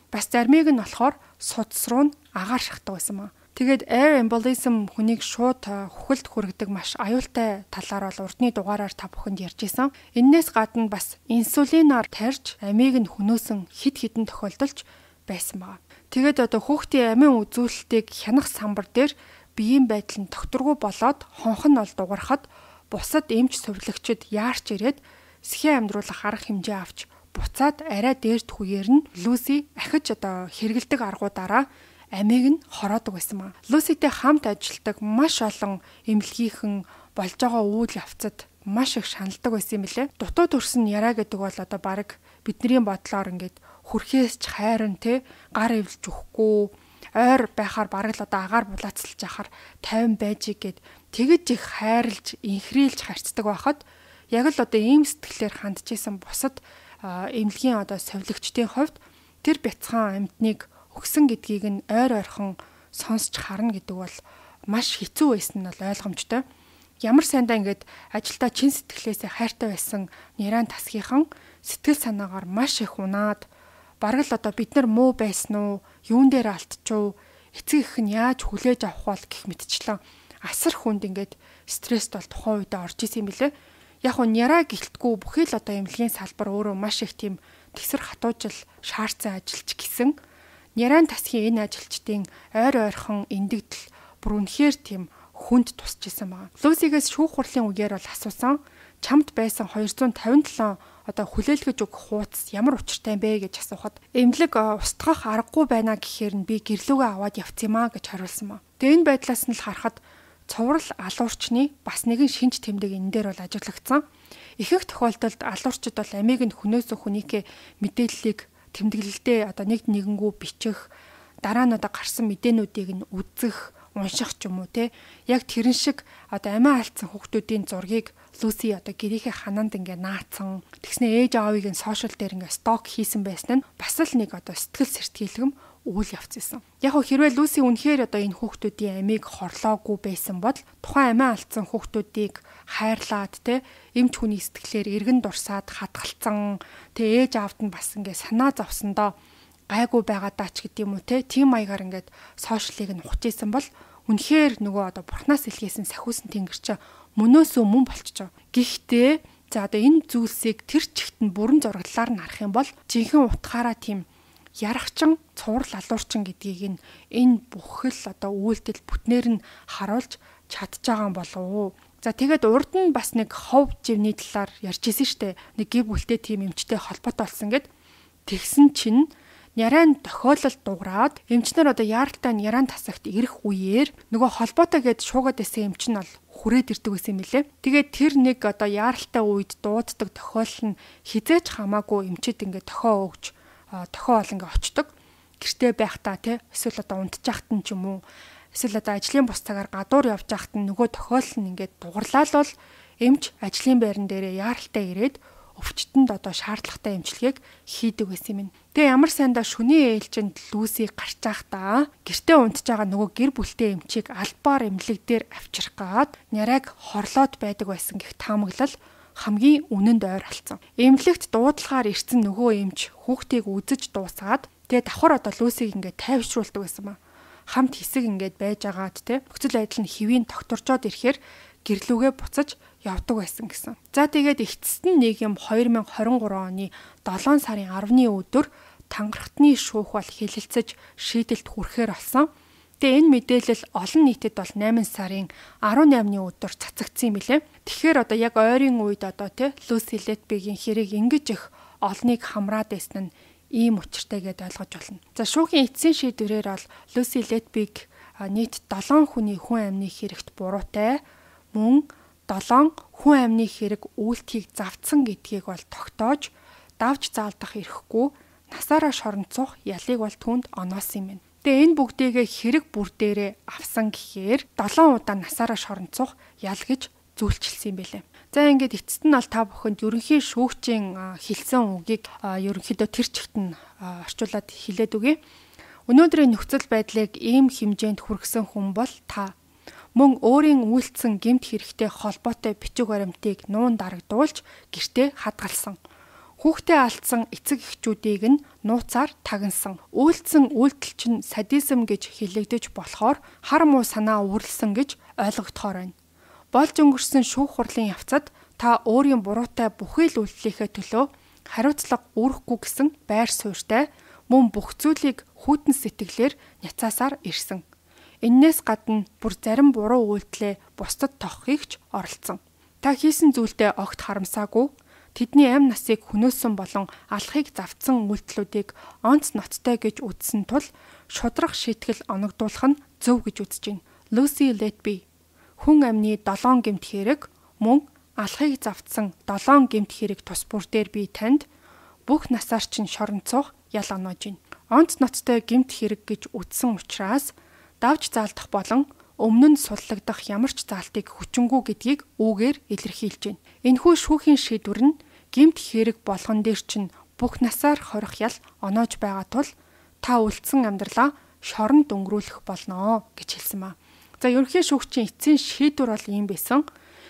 Бас зармиг нь болохоор судас руу агаар шахдаг байсан маа. Тэгээд air embolism хүнийг шууд хөхөлд хүргэдэг маш аюултай талаар бол урдны дугаараар та бүхэнд ярьжсэн. Эннээс гадна бас инсулинаар тарьж амийг нь хөнөөсөн хид хідэн тохиолдолж байсан байна. Тэгээд одоо хүүхдийн амийн үзүүлэлтийг хянах самбар дээр биеийн байдал нь докторгүй болоод хонх нь бол дугарахад бусад эмч сувлагчид яарч ирээд сэхээ амьдруулах арга хэмжээ авч буцаад арай дээрт хүгээр нь Люси ахиж хэрэгэлдэг аргуудаараа амийг нь хороодог байсан маа. Люситэй хамт ажилладаг маш олон эмнэлгийнхэн болж байгаа үйл явцад маш их шаналдаг байсан юм билэ. Дутуу төрсөн яраа гэдэг бол баг бидний бодлоор ингээд хүрхээс ч хайрын гар эвлж өгөхгүй ойр байхаар бараг л агаар булаацлж яхаар 50 байжиг гэд тэгэж их хайрлж инхрийлж харцдаг байхад яг л ийм сэтгэлээр хандчихсан бусад эмнэлгийн совилогчдын хувьд тэр бяцхан амьтныг өгсөн гэдгийг нь ойр ойрхон сонсч харна гэдэг бол маш хэцүү байсан нь бол ойлгомжтой. Ямар сайндаа ингээд ажилдаа чин сэтгэлээсээ хайртай байсан Няран тасгийнхан сэтгэл санаагаар маш их унаад бараг л бид нар муу байсан уу, юун дээр алдчихв, эцэг их нь яаж хүлээж авах бол гэх мэтчлэн асар хүнд ингээд стресст бол тухайн үедээ орж исэн юм билэ. Яг нь Няраа гэлтгүү бүхий л эмнэлгийн салбар өөрөө маш их тийм тэгсэр хатуужил шаардсан ажилч гисэн. Няран тасгийн энэ ажилчдын ойр ойрхон эндэгдэл бүр үнэхээр тийм хүнд тусч исэн байна. Люсигээс шүүх хурлын үгээр бол асуусан. Чамд байсан 257 хүлээлгэж өгөх хуудас ямар учиртай бэ гэж асуухад эмнэлэг устгах аргагүй байна гэхээр нь би гэрлүүгээ аваад явцъя гэж хариулсан ба. Тэгээ энэ байдлаас нь л харахад цуврал алуурчны бас нэгэн шинж тэмдэг энэ дээр бол ажиглагдсан. Ихэнх тохиолдолд алуурчид бол амийг нь хүнөөс хүнийхээ мэдээллийг тэмдэглэлдээ нэгэнгүү бичих, дараа нь гарсан мэдээнүүдийг нь үзэх, унших ч юм уу яг тэрэн шиг амиа алдсан хүүхдүүдийн зургийг Люси гэрийнхээ ханаанд ингээ наацсан. Тэгснэ ээж аавыг нь сошиал дээр ингээ сток хийсэн байсан нь бас л нэг сэтгэл сэртгийлгэн үйл явц байсан. Яг хэрвээ Люси үнэхээр энэ хүүхдүүдийн амийг хорлоогүй байсан бол тухайн амиа алдсан хүүхдүүдийг хайрлаад эмч хүний сэтгэлээр эргэн дурсаад хатгалцсан. Ээж аавд нь бас ингээ санаа зовсондоо гайгүй байгаадаа ч гэдэм үү тийм маягаар ингээд сошиалыг нь ухаж исэн бол үнэхээр нөгөө бурхнаас илгээсэн сахиусан тэнгэрч мөнөөсөө мөн болчихоо. Гэхдээ энэ зүйлсийг тэр чигт нь бүрэн зураглалаар нь харах юм бол жинхэнэ утгаараа тийм ярахчин цуврал алуурчин гэдгийг энэ бүхэл үйлдэл бүтнээр нь харуулж чадж байгаа юм болов уу? Тэгээд урд нь бас нэг хов живний талаар ярьжсэн штэ. Нэг гів бүлтэй тийм эмчтэй холбоотой болсон гэд тэгсэн чинь Няран тохиолдол дуурайад эмчнэр яаралтай Няран тасагт ирэх үеэр нөгөө холбоотой гэд шуугаад байсан эмч нь бол хүрээд ирдэг байсан юм лээ. Тэгээд тэр нэг яаралтай үед дууддаг тохиолдол нь хизээч хамаагүй эмчэд ингээ тохио өгч тохио ол ингээ очдог. Гэртээ байхдаа эсвэл унтчихт нь ч юм уу эсвэл ажлын бус цагаар гадуур явж байхад нь нөгөө тохиолдол нь ингээ дугарлал бол эмч ажлын байран дээрээ яаралтай ирээд өвчтөнд шаардлагатай эмчилгээг хийдэг байсан юм. Тэгээ ямар сайндаа шөнийн ээлжинд Люси гарч байхдаа гэртээ унтж байгаа нөгөө гэр бүлтэй эмчийг албаар эмнэлэг дээр авчрах гаад Няраг хорлоод байдаг байсан гэх таамаглал хамгийн үнэнд ойр алцсан. Эмнэлэгт дуудлагаар ирсэн нөгөө эмч хүүхдийг үзэж дуусгаад тэгээ давхар Люсиг ингээд тайвшруулдаг байсан ба. Хамт хэсэг ингээд байж агаад нөхцөл байдал нь хэвийн тогтворчоод ирэхээр гэрлүүгээ буцаж явдаг байсан гэсэн. За тэгээд эцэст нь нэг юм 2023 оны 7 сарын 10-ны өдөр тангархтны шүүх бол хэлэлцэж шийдэлт хүрэхээр болсон. Тэгээ энэ мэдээлэл олон нийтэд бол 8 сарын 18-ны өдөр цацагдсан юм билэ. Тэгэхээр яг ойрын үед Люси Летбигийн хэрэг ингэж их олныг хамраад байсан нь ийм учиртай гэдээ ойлгож болно. За шүүхийн эцсийн шийдвэрээр бол Люси Летбиг нийт 7 хүний хүн амны хэрэгт буруутай мөн 7 хүн амны хэрэг үйлдэлийг завдсан гэдгийг бол тогтоож давж заалдах эрхгүй насаараа шоронцох ялыг бол түүнд оноосон юм байна. Тэгээ энэ бүгдийгээ хэрэг бүр дээрээ авсан гэхээр 7 удаа насаараа шоронцох ял гэж зүйлчилсэн юм байлээ. За ингээд эцэст нь бол та бүхэнд ерөнхий шүүгчийн хэлсэн үгийг ерөнхийдөө тэр чигт нь орчуулад хэлээд өгье. Өнөөдрийн нөхцөл байдлыг ийм хэмжээнд хүргэсэн хүн бол та. Мөн өөрийн үйлцсэн гэмт хэрэгтэй холбоотой бичиг баримтыг нуун дарагдуулж гэртээ хадгалсан. Хүүхдээ алдсан эцэг эхчүүдийг нь нууцаар тагнасан. Үйлцсэн үйлдэл чинь садизм гэж хэлэгдэж болохоор хар муу санаа үүрлсэн гэж ойлгогдохоор байна. Болж өнгөрсөн шүүх хурлын явцад та өөрийн буруутай бүхий л үйлдэлийнхээ төлөө хариуцлага үүрэхгүй гэсэн байр суурьтай мөн бүх зүйлийг хүйтэн сэтгэлээр няцаасаар ирсэн. Иннээс гадна бүр зарим буруу үйлдэлээ бусдад тохихыг ч оролцсон. Та хийсэн зүйлдээ огт харамсаагүй. Тэдний амь насыг хөнөөсөн болон алхахыг завдсан үйлдэлүүдийг онц ноцтой гэж үзсэн тул шудрах шийтгэл оногдуулах нь зөв гэж үзэж байна. Lucy Letby. Хүн амны 7 гэмт хэрэг мөн алхахыг завдсан 7 гэмт хэрэг тус бүр дээр би танд бүх насаар чинь шоронцох ял оноож байна. Онц ноцтой гэмт хэрэг гэж үзсэн учраас давж заалдах болон өмнө нь суллагдах ямар ч заалтыг хүчингү гэдгийг үүгээр илэрхийлж байна. Энэхүү шүүхийн шийдвэр нь гэмт хэрэг болгон дээр чинь бүх насаар хорих ял оноож байгаа тул та үлдсэн амьдралаа шоронд өнгөрүүлэх болно гэж хэлсэн ба. За ерөнхий шүүгчийн эцсийн шийдвэр бол ийм байсан.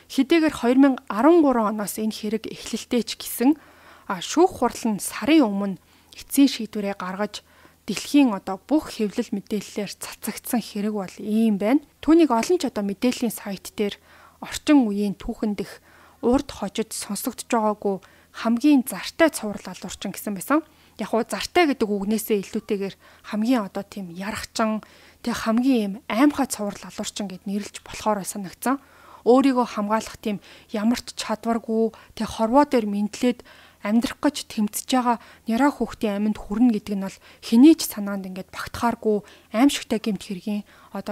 Хэдийгээр 2013 оноос энэ хэрэг эхлэлтэй ч гэсэн шүүх хурал нь сарын өмнө эцсийн шийдвэрээ гаргаж дэлхийн бүх хэвлэл мэдээллээр цацагдсан хэрэг бол ийм байна. Түүнийг олон ч мэдээллийн сайт дээр орчин үеийн түүхэндх урд хожид сонсогдож байгаагүй хамгийн зартай цуврал алуурчин гэсэн байсан. Яг уу зартай гэдэг үгнээсээ илүүтэйгээр хамгийн тийм ярахчин тэг хамгийн аимхай цуврал алуурчин гэд нэрлэж болохоор санагдсан. Өөрийгөө хамгаалах тийм ямар ч чадваргүй тэг хорвоо дээр мэдлээд амьдрах гэж тэмцэж байгаа няраа хүүхдийн аминд хүрнэ гэдэг нь бол хэний ч санаанд ингээд багтахааргүй аимшигтай гэмт хэргийн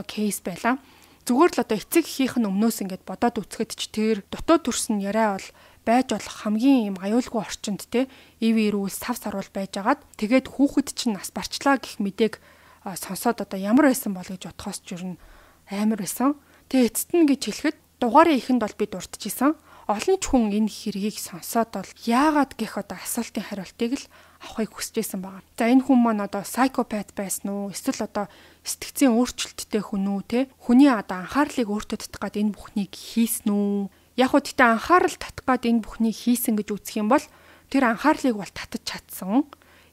кейс байлаа. Зүгээр л эцэг эхийнх нь өмнөөс ингээд бодоод үцгэд ч тэр дутуу төрсөн яриа бол байж болох хамгийн юм аюулгүй орчинд те ив ирүүл сав саруул байжгаад тэгээд хүүхэд чинь нас барчлаа гэх мэдээг сонсоод ямар байсан бол гэж бодхоос жирнэ амар байсан. Тэгээ эцэст нь гэж хэлэхэд дугаараа ихэнд бол би дурдчихсан. Олон ч хүн энэ хэргийг сонсоод бол яагаад гэх асуултын хариултыг л авахыг хүсэжсэн байгаа. За энэ хүн маань psychopath байсан уу? Эсвэл сэтгцийн өөрчлөлттэй хүн үү те? Хүний анхаарлыг өөртөө татах гад энэ бүхнийг хийсэн үү? Яг уу тэгтээ анхаарал татах гад энэ бүхнийг хийсэн гэж үзэх юм бол тэр анхаарлыг бол татаж чадсан.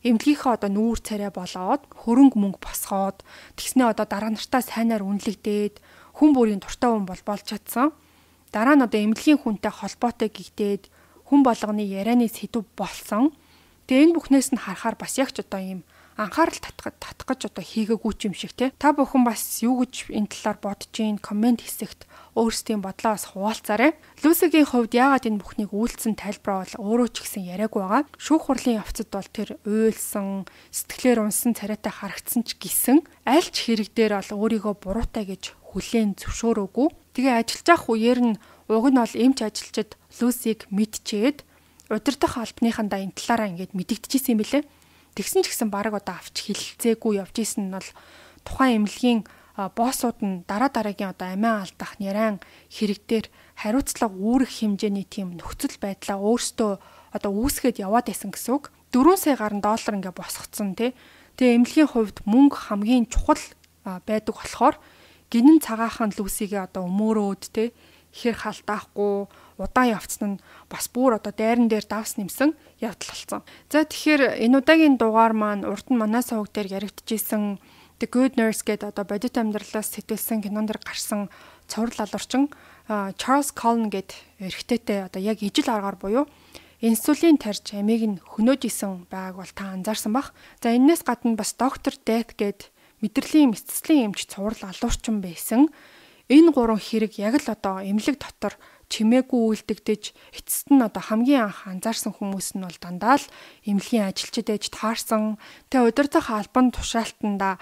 Эмнэлгийнхээ нүүр царай болоод хөрөнгө мөнгө босгоод тэгснээ дараа нартаа сайнаар үнэлэгдээд хүн бүрийн дуртай хүн болж чадсан. Дараа нь эмнэлгийн хүнтэй холбоотой гэгдээд хүн болгоны ярианы сэдв болсон. Тэгээ энэ бүхнээс нь харахаар бас яг ч ийм анхаарал татах гэж хийгээгүй юм шиг те. Та бүхэн бас юу гэж энэ талаар бодож ийн комент хэсэгт өөрсдийн бодлоо бас хуваалцаарай. Люсигийн хувьд яагаад энэ бүхнийг үйлдэлсэн тайлбараа бол өөрөө ч гэсэн яриаг байгаа. Шүүх хурлын явцад бол тэр уйлсан, сэтгэлээр унсан царайтай харагдсан ч гэсэн аль ч хэрэг дээр бол өөрийгөө буруутай гэж хүлээн зөвшөөрөөгүй. Тэгээ ажиллаж явах үеэр нь уг нь бол эмч ажилчид Люсиг мэдчихэд удирдах албаныхандаа энэ талаараа ингээд мэдэгдэжсэн юм билээ. Тэгсэн ч гэсэн баг авч хилцээгүй явж исэн нь бол тухайн эмнэлгийн боссууд нь дараагийн амиа алдах нярайн хэрэг дээр хариуцлага үүрэх хэмжээний тийм нөхцөл байдлаа өөртөө үүсгээд яваад байсан гэсэн үг. 4 сая гаруй доллар ингээд босгоцсон тий. Тэгээ эмнэлгийн хувьд мөнгө хамгийн чухал байдаг болохоор гинэн цагаахан Люсигээ өмөөрөөд тий хэр халтаахгүй удаан явцсан нь бас бүр дайран дээр давс нэмсэн явдал болсон. За тэгэхээр энэ удаагийн дугаар маань урд нь манай сувг дээр яригдчихсэн The Good Nurse гэдэг бодит амьдралаас сэтэлсэн кинон дэр гарсан цуврал алуурчин Charles Cullen гэдэг эрэгтэйтэй яг ижил аргаар буюу инсулин тарьж амийг нь хөнөөж исэн байгааг бол та анзаарсан бах. За энэс гадна бас Dr. Death гэдэг мэдрэлийн мэдцлийн эмч цуврал алуурчин байсан. Энэ гурван хэрэг яг л эмнэлэг дотор чимээгүй үйлдэгдэж эцэст нь хамгийн анх анзаарсан хүмүүс нь бол дандаа л эмнэлгийн ажилчид ээж таарсан. Тэгээ удирдах албан тушаалтанда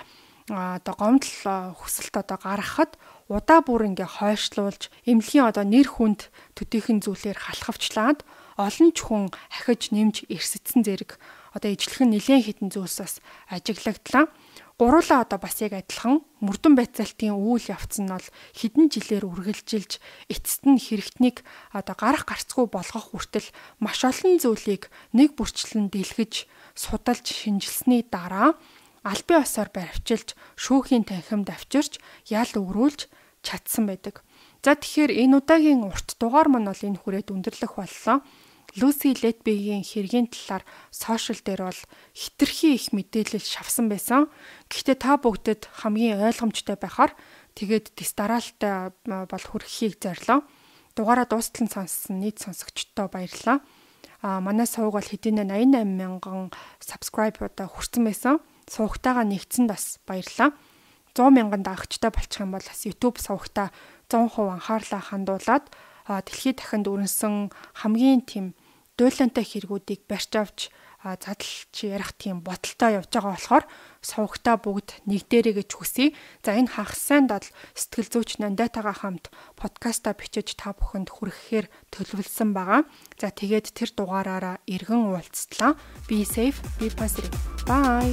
гомдол хүсэлт гаргахад удаа бүр ингээ хойшлуулж эмнэлгийн нэр хүнд төдийхөн зүйлээр халахвчлаад олон ч хүн хахиж нэмж ирсэцсэн зэрэг ижлэхэн нэлээд хитэн зүйлсээс ажиглагдлаа. Гуруулаа бас яг адилхан мөрдөн байцаалтын үйл явц нь бол хэдэн жилээр үргэлжилж эцэст нь хэрэгтнийг гарах гарцгүй болгох хүртэл маш олон зүйлийг нэг бүрчлэн дэлгэж судалж шинжилсэний дараа албан ёсоор баривчилж шүүхийн танхимд авчирч ял өрүүлж чадсан байдаг. За тэгэхээр энэ удаагийн урт дугаар маань бол энэ хүрээд өндөрлөх боллоо. Lucy Letby-гийн хэргийн талаар сошиал дээр бол хитрхи их мэдээлэл шавсан байсан. Гэхдээ та бүгдэд хамгийн ойлгомжтой байхаар тэгээд дистаралтай бол хүрхийг зорилоо. Дугаараа дуустал нь сонссон нийт сонсогчдод баярлалаа. Манай сувг бол хэдийнэ 88 мянган subscribe хүрсэн байсан. Сувгтайгаа нэгдсэнд бас баярлалаа. 100 мянган дагагчтай болчих юм бол бас YouTube сувгтаа 100% анхаарлаа хандуулад дэлхийд дахинд өрнсөн хамгийн тийм дуйлантай хэрэгүүдийг барьж авч задлж ярих тийм бодолтой явж байгаа болохоор сувагтаа бүгд нэг дээрээ гэж хүсье. За энэ хагас сайнд бол сэтгэл зүйч Нандайтайгаа хамт подкаста бичиж та бүхэнд хүрэхээр төлөвлөсөн байгаа. За тэгээд тэр дугаараараа эргэн уулзтлаа. Be safe, be positive. Bye.